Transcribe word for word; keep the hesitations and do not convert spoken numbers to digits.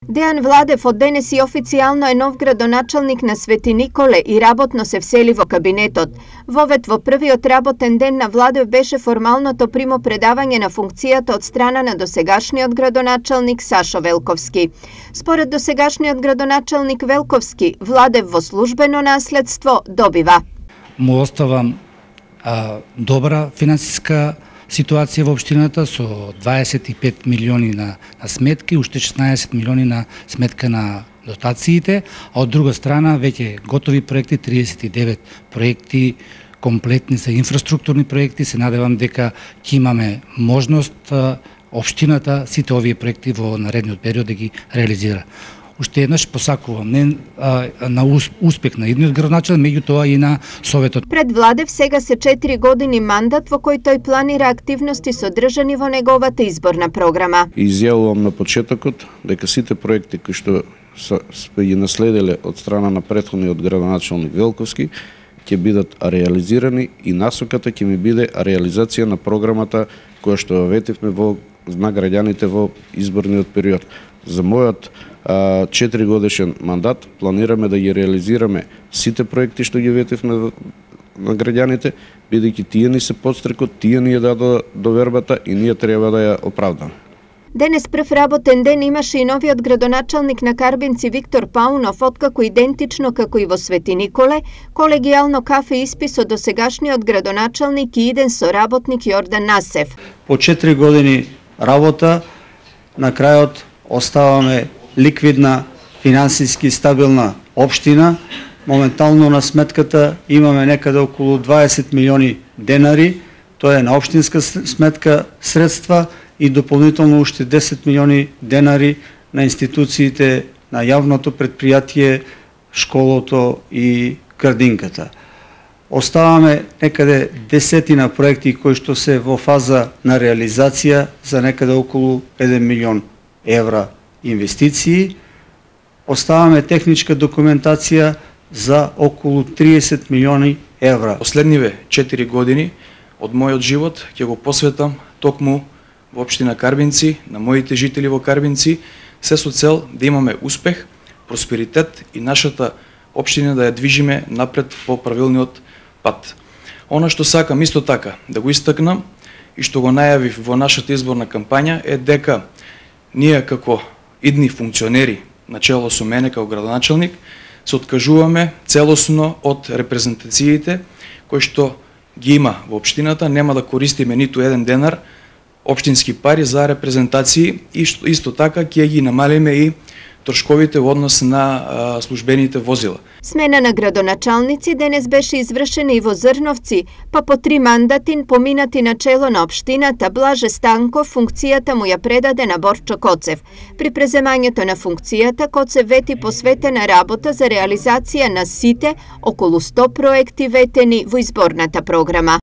Дејан Владев од денес и официјално е нов градоначалник на Свети Николе и работно се всели во кабинетот. Вовет во првиот работен ден на Владев беше формалното примопредавање на функцијата од страна на досегашниот градоначалник Сашо Велковски. Според досегашниот градоначалник Велковски, Владев во службено наследство добива: му оставам а, добра финансиска ситуација во општината со дваесет и пет милиони на, на сметки, уште шеснаесет милиони на сметка на дотациите, а од друга страна веќе готови проекти, триесет и девет проекти комплетни за инфраструктурни проекти. Се надевам дека ќе имаме можност а, општината сите овие проекти во наредниот период да ги реализира. Уште еднаш посакувам не а, на успех на идниот градоначалник, меѓутоа и на Советот. Пред Владев сега се четири години мандат во кој тој планира активности содржани во неговата изборна програма. Изјавувам на почетокот дека сите проекти кои што сме ги наследиле од страна на претходниот градоначалник Велковски ќе бидат реализирани и насоката ќе ми биде реализација на програмата која што ветивме во на граѓаните во изборниот период. За мојот четири годишен мандат планираме да ги реализираме сите проекти што ги ветивме на граѓаните, бидејќи тие ни се подстрекот, тие ни ја дадоа довербата и ние треба да ја оправдаме. Денес прв работен ден имаше и новиот градоначалник на Карбинци Виктор Паунов, откако идентично како и во Свети Николе, колегијално кафе испи со досегашниот градоначалник и иден соработник Јордан Насев. По четири години работа, на крајот оставаме ликвидна, финансиски стабилна општина. Моментално на сметката имаме некаде околу дваесет милиони денари, тоа е на општинска сметка средства и дополнително уште десет милиони денари на институциите на јавното предпријатие, школото и градинката. Оставаме некаде десетина проекти кои што се во фаза на реализација за некаде околу еден милион евра инвестиции. Оставаме техничка документација за околу триесет милиони евра. Последниве четири години од мојот живот ќе го посветам токму во општина Карбинци, на моите жители во Карбинци, се со цел да имаме успех, просперитет и нашата општина да ја движиме напред по правилниот пат. Она што сакам исто така да го истакнам и што го најавив во нашата изборна кампања е дека ние како идни функционери, начело со мене како градоначалник, се откажуваме целосно од репрезентациите кои што ги има во општината, нема да користиме ниту еден денар општински пари за репрезентации и исто така ќе ги намалиме и трошковите во однос на а, службените возила. Смена на градоначалници денес беше извршена и во Зрновци, па по три мандати поминати на чело на општината Блаже Станков функцијата му ја предаде на Борчо Коцев. При преземањето на функцијата Коцев вети посветена работа за реализација на сите околу сто проекти ветени во изборната програма.